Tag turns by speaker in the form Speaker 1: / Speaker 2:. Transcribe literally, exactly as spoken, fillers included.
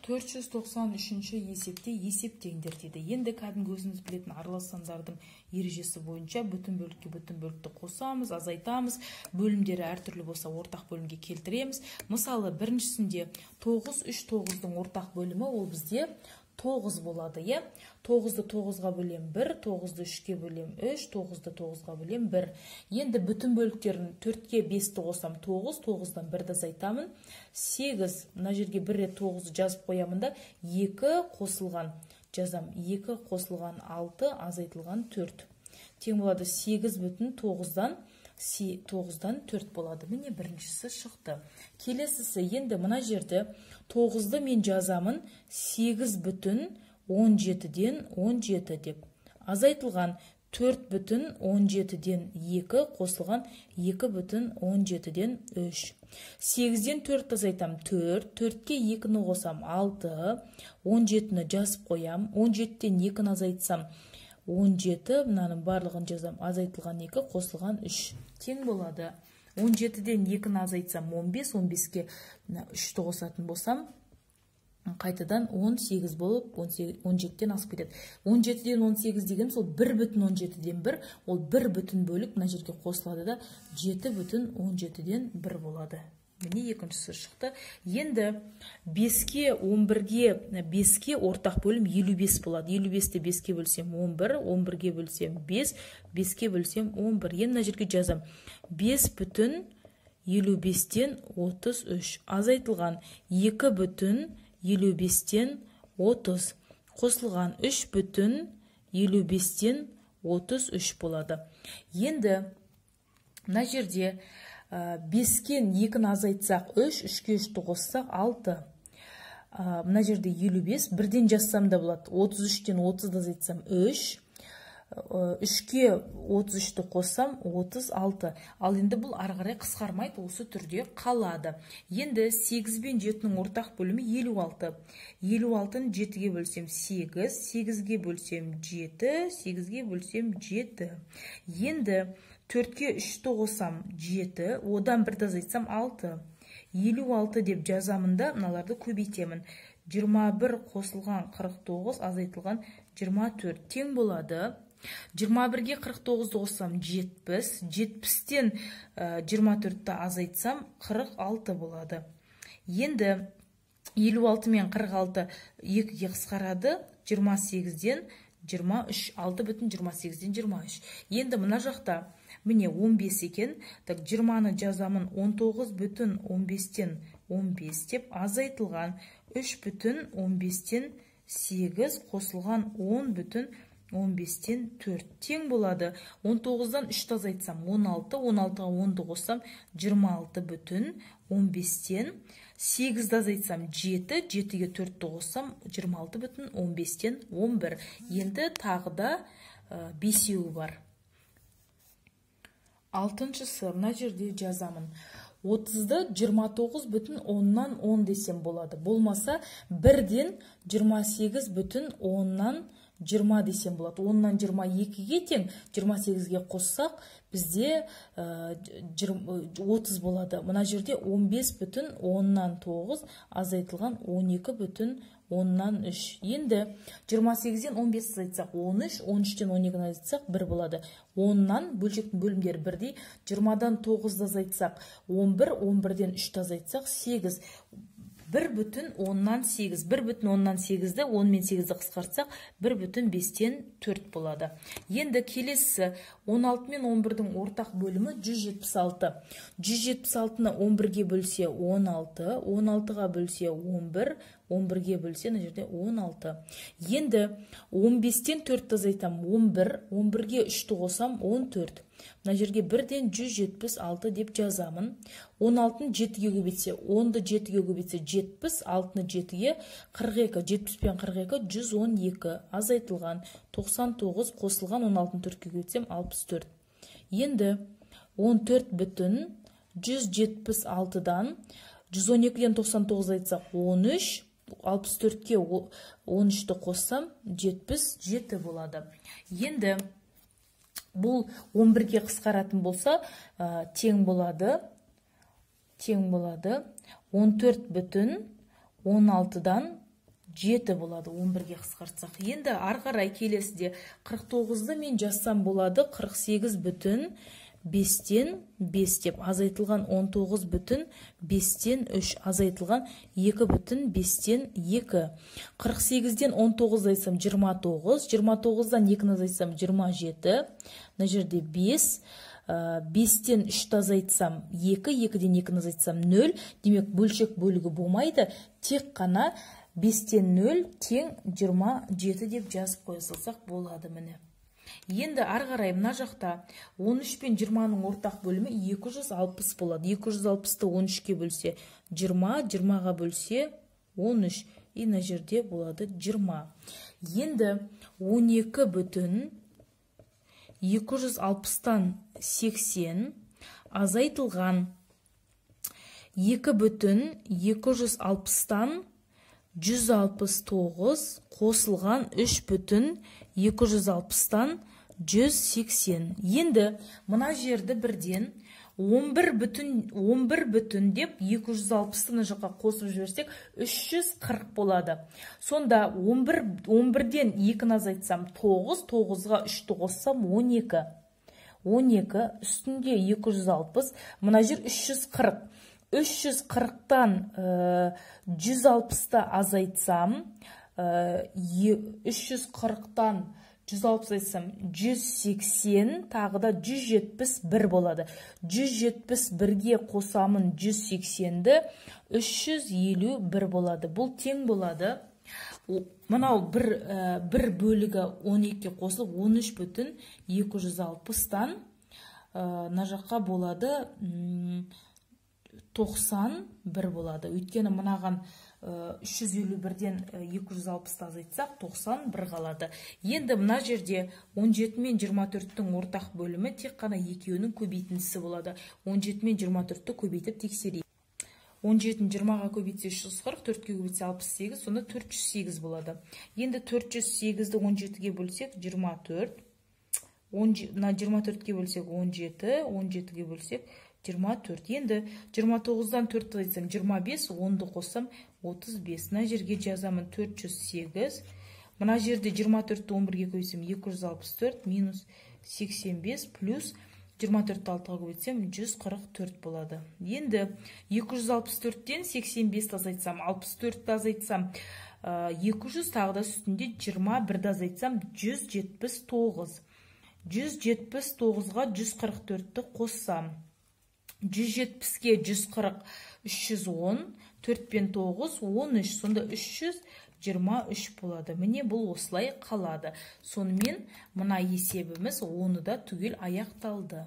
Speaker 1: төрт жүз тоқсан үшінші есепте есептеңдер дейді. Енді кәдімгі өзіңіз білетін аралас сандардың ережесі бойынша бүтін бөлікке бүтін бөлікті қосамыз, азайтамыз, бөлімдері әртүрлі болса ортақ бөлімге келтіреміз. Мысалы, біріншісінде тоғыз, үш, тоғыздың ортақ бөлімі ол бізде тоғыз болады, е? тоғызды тоғызға бөлем бір, тоғызды үшке бөлем үш, тоғызды тоғызға бөлем бір. Енді бүтін бөліктерін төртке бесті қосам тоғыз, тоғыздан бірді азайтамын. сегіз, мына жерге бір рет тоғызды жазып қоямын да, екі қосылған жазам, екі қосылған алты, азайтылған төрт. Тең болады сегіз бүтін тоғыздан тоғыздан төрт болады. Міне біріншісі шықты. Келесісі, енді мына жерді тоғызды мен жазамын сегіз бүтін он жетіден он жеті деп. Азайтылған төрт бүтін он жетіден екі қосылған екі бүтін он жетіден үш. сегізден төрт азайтам төрт, төртке екіні қосам алты, он жетіні жазып қоям, он жетіден екіні азайтсам он жеті, мынаның барлығын жазам, азайтылған екі, қосылған үш. Тең болады. он жетіден екіні азайтсам он бес, он беске үшті қосатын болсам, қайтадан он сегіз болып, он жетіден асып кетеді. он жетіден он сегіз деген сол бір бүтін он жетіден бір, ол бір бүтін бөлік мына жерге қосылады да, жеті бүтін он жетіден бір болады. Міне екіншісі шықты. Енді беске он бірге беске ортақ бөлім елу бес болады. елу бесті беске бөлсем он бір, он бірге бөлсем бес, беске бөлсем он бір. Енді мына жерге жазам. бес бүтін елу бестен отыз үш. Азайтылған екі бүтін елу бестен отыз. Қосылған үш бүтін елу бестен отыз үш болады. Енді мына жерде бескен екіні азайтсақ үш, үшке үшті қоссақ алты. Мына жерде елу бес, бірден жазсам да болады. отыз үштен отызды азайтсам үш, үшке отыз үшті қоссам отыз алты. Ал енді бұл ары қарай қысқармайды, осы түрде қалады. Енді сегіз бен жетінің ортақ бөлімі елу алты. елу алтыны жетіге бөлсем сегіз, сегізге бөлсем жеті, сегізге бөлсем жеті. Енді төртке үшті қосам жеті, одан бірді азайтсам алты. елу алты деп жазамын да, мыналарды көбейтемін. жиырма бір қосылған қырық тоғыз, азайтылған жиырма төрт. Тең болады. жиырма бірге қырық тоғызды қоссам жетпіс, жетпістен жиырма төртті азайтсам қырық алты болады. Енді елу алты мен қырық алты екіге қысқарады, жиырма сегізден жиырма үш, алты бүтін жиырма сегізден жиырма үш. Енді мына жақта міне он бес екен, так жиырманы жазамын он тоғыз бүтін он бестен он бес деп, азайтылған үш бүтін он бестен сегіз, қосылған он бүтін он бестен төрт. Тең болады. он тоғыздан үшті азайтсам он алты, он алтыға онды қоссам жиырма алты бүтін он бестен, сегізді азайтсам жеті, жетіге төртті қоссам жиырма алты бүтін он бестен он бір. Енді тағы да бесеуі бар. Алтыншысы, мына жерде жазамын. отызды жиырма тоғыз бүтін оннан он десем болады. Болмаса бірден жиырма сегіз бүтін оннан жиырма десем болады. оннан жиырма екіге тең, жиырма сегізге қоссақ бізде отыз болады. Мына жерде он бес бүтін оннан тоғыз, азайтылған он екі бүтін оннан үш. Енді жиырма сегізден он бесті азайтсақ он үш, он үштен он екіні азайтсақ бір болады. оннан бөлшектің бөлімдері бірдей. жиырмадан тоғызды азайтсақ он бір, он бірден үшті азайтсақ сегіз. бір бүтін оннан сегіз. бір бүтін оннан сегізді он мен сегізді қысқартсақ бір бүтін бестен төрт болады. Енді келесі он алты мен он бірдің ортақ бөлімі жүз жетпіс алты. жүз жетпіс алтыны он бірге бөлсе он алты, он алтыға бөлсе он бір, он бірге бөлсе мына жерде он алты. Енді он бестен төртті азайтам он бір, он бірге үшті қосам он төрт. Мына жерге бірден жүз жетпіс алты деп жазамын. он алтыны жетіге көбейтсе, онды жетіге көбейтсе жетпіс, алтыны жетіге қырық екі, жетпіс пен қырық екі жүз он екі, азайтылған тоқсан тоғыз, қосылған он алтыны төртке көбейтсем алпыс төрт. Енді он төрт бүтін жүз жетпіс алтыдан жүз он екіден тоқсан тоғыз айтсақ он үш, алпыс төртке он үшті қоссам жетпіс жеті болады. Енді бұл он бірге қысқаратын болса тең болады. Тең болады. он төрт бүтін он алтыдан жеті болады, он бірге қысқартсақ. Енді ары қарай келесіде қырық тоғызды мен жазсам болады, қырық сегіз бүтін бестен бес деп, азайтылған он тоғыз бүтін бестен үш, азайтылған екі бүтін бестен екі. қырық сегізден он тоғыз азайтсам жиырма тоғыз, жиырма тоғыздан екіні азайтсам жиырма жеті, мына жерде бес, бестен үшті азайтсам екі, екіден екіні азайтсам нөл, демек бөлшек бөлігі болмайды, тек қана бестен нөл тең жиырма жеті деп жазып қоя салсақ болады. Міне. Енді ары қарай мына жақта он үш пен жиырманың ортақ бөлімі екі жүз алпыс болады. екі жүз алпысты он үшке бөлсе жиырма, жиырмаға бөлсе он үш, и мына жерде болады жиырма. Енді он екі бүтін екі жүз алпыстан сексен азайтылған екі бүтін екі жүз алпыстан жүз алпыс тоғыз қосылған үш бүтін екі жүз алпыстан жүз сексен. Енді мына жерді бірден он бір бүтін деп екі жүз алпысты жаққа қосып жіберсек үш жүз қырық болады. Сонда он бірден екіні азайтсам тоғыз, тоғызға үшті қоссам он екі. он екі үстінде екі жүз алпыс, мына жер үш жүз қырық. үш жүз қырықтан жүз алпысты азайтсам, үш жүз қырықтан жүз алпыс айтсам жүз сексен, тағы да жүз жетпіс бір болады. жүз жетпіс бірге қосамын жүз сексенді, үш жүз елу бір болады. Бұл тең болады. Мынау бір бөлігі он екіге қосылып он үш бүтін екі жүз алпыстан мына жаққа болады тоқсан бір болады. Өйткені мынаған үш жүз елу бірден екі жүз алпысты азайтсақ тоқсан бір қалады. Енді мына жерде он жеті мен жиырма төрттің ортақ бөлімі тек қана екеуінің көбейтіндісі болады. он жеті мен жиырма төртті көбейтіп тексерейік. он жетіні жиырмаға көбейтсе үш жүз қырық, төртке көбейтсе алпыс сегіз, сонда төрт жүз сегіз болады. Енді төрт жүз сегізді он жетіге бөлсек жиырма төрт, жиырма төртке бөлсек он жеті, он жетіге бөлсек жиырма төрт. Енді жиырма тоғыздан төртті айтсам жиырма бес, онды қоссам отыз бес. Мына жерге жазамын төрт жүз сегіз. Мына жерде жиырма төртті он бірге көбейтсем екі жүз алпыс төрт минус сексен бес плюс жиырма төртті алтыға көбейтсем жүз қырық төрт болады. Енді екі жүз алпыс төрттен сексен бесті азайтсам, алпыс төртті азайтсам екі жүз, тағы да үстінде жиырма бірді азайтсам жүз жетпіс тоғыз. жүз жетпіс тоғызға жүз қырық төртті қоссам, жүз жетпіске жүз қырық, үш жүз он, төрт пен тоғыз, он үш, сонда үш жүз жиырма үш болады. Міне бұл осылай қалады. Сонымен мына есебіміз оны да түгел аяқталды.